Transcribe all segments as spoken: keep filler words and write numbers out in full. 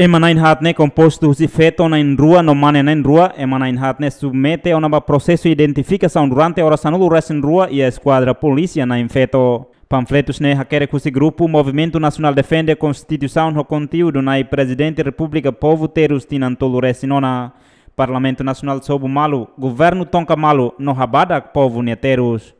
Ema na'in-haat ne'e kompostu husi feto na'in-rua no mane na'in-rua. Ema na'in-haat ne'e submete ona ba prosesu identifikasaun durante oras sanulu-resin-rua iha eskuadra polísia na'in-feto. Panfletus ne'e hakerek husi grupu Movimentu Nasionál Defende Konstituisaun ho konteúdu Na'i Prezidente Repúblika Povu Terus tinan tolu-resin-ona, Parlamentu Nasionál sobu malu, Governu tonka malu no habadak povu nia terus.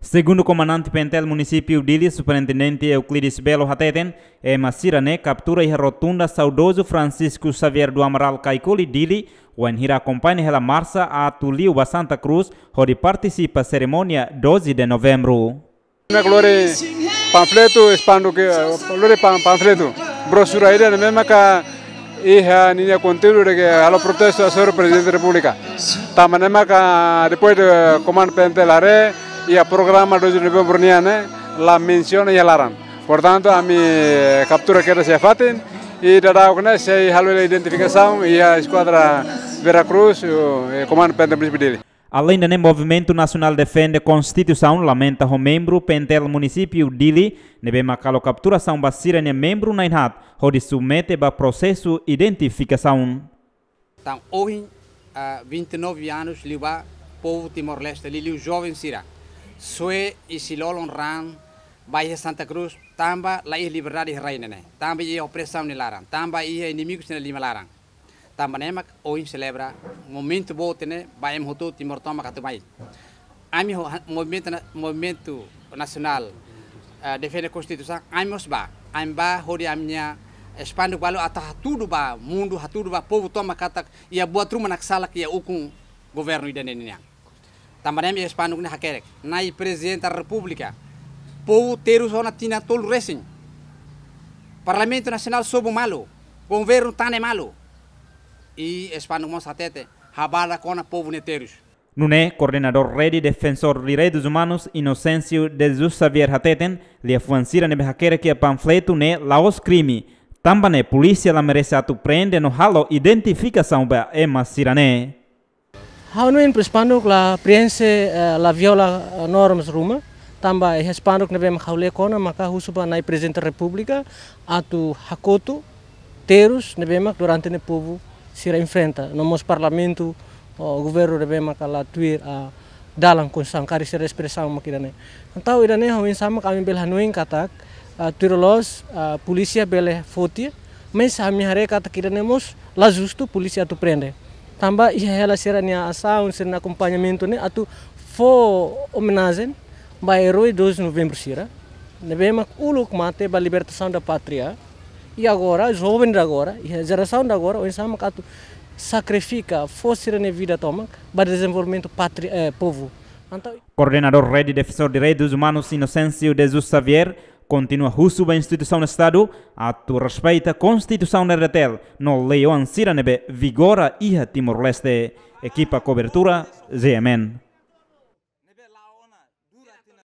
Segundu Komandante PNTL Munisípiu Dili, Superintendente Euclides Belo hateten, ema sira-ne'e kaptura iha rotunda Saudozu Francisco Xavier do Amaral Caicoli, Dili, wainhira akompaña hela marsa atu liu ba Santa Cruz, hodi partisipa serimónia doze de Novembro. Ne'e lori panfletu, espandu ke, lori pan-, panfletu, brosura ida ne'ebé maka iha ninia konteúdu de'it halo protestu hasoru Prezidente Repúblika. Tanba ne'e maka depois de Komandu PNTL haree, iha programa doze de Novembro nian ne'e la mensiona iha laran. Portantu, ami kaptura kedas iha fatin, i daudauk ne'e sei halo identifikasaun iha eskuadra Vera Cruz, eh, Komandu PNTL Munisípiu Dili. Aleinde ne'e, Movimentu Nasionál Defende Konstituisaun lamenta ho membru PNTL Munisípiu Dili ne'ebé maka halo kapturasaun ba sira-nia membru na'in-haat hodi submete ba prosesu identifikasaun. Tan ohin, ah, vinte e nove anos liubá, povu Timor-Leste, liuliu joven sira, soe i si lolon raan ba iha Santa Cruz, tanba la iha liberdade iha rai ne'e, tanba iha opresaun nia laran, tanba iha inimigu sira-nia liman laran. Tanba ne'e mak ohin selebra momentu boot ne'e ba ema hotu Timor tomak atu mai. Ami ho-, ha-, movimentu na-, movimentu nasionál, eh, defende konstituisaun, ami mós bá. Ami bá hodi ami-nia espanduk balu atu hatudu ba mundu, hatudu ba povu tomak katak iha buat ruma naksalak iha ukun governu ida-ne'e nian. Tanba ne'e ami espanduk ne'e hakerek: Na'i Prezidente Repúblika, povu terus ona tinan tolu resin. Parlamentu Nasionál sobu malu, governu tane malu. I espanduk mós hatete: habadak ona povu nia terus. Nune'e, koordenadór Rede Defensór Direitus Umanus, Inocêncio de Jesus Xavier hateten, liafuan sira ne'ebé hakerek iha panfletu ne'e la'ós krime. Tanba ne'e polísia la merese atu prende no halo identifikasaun ba ema sira-ne'e. Ha'u hanoin espanduk la preenxe, eh, la viola, eh, normas ruma, tanba iha espanduk ne'ebé mak ha'u lee ona maka husu ba Na'i Prezidente Repúblika atu hakotu terus ne'ebé mak durante ne'e povu sira enfrenta, no mós parlamentu, o governu ne'ebé maka la tuir, ah, dalan konstituisaun, karik sira espresaun mak ida-ne'e. Entaun ida-ne'e oinsá mak ami bele hanoin katak, ah, tuir loos, ah, polísia bele foti, mas ami haree katak ida-ne'e mós la justu polísia atu prende. Tanba iha hela sira-nia asaun, sira-nia akompañamentu ne'e atu fó omenajen ba erói doze de Novembro sira ne'ebé mak uluk mate ba libertasaun da pátria. I agora, joven de agora, iha jerasaun de agora, oinsá mak atu sakrifika, fó sira-nia vida tomak ba dezenvolvimentu pátria, eh, povu. Entaun, koordenadór Rede Defensór Direitus Umanus, Inocêncio de Jesus Xavier, kontinua husu ba instituisaun Estadu atu respeita Konstituisaun R D T L no lei-oan sira ne'ebé vigora iha Timor-Leste. Ekipa kobertura, G M N.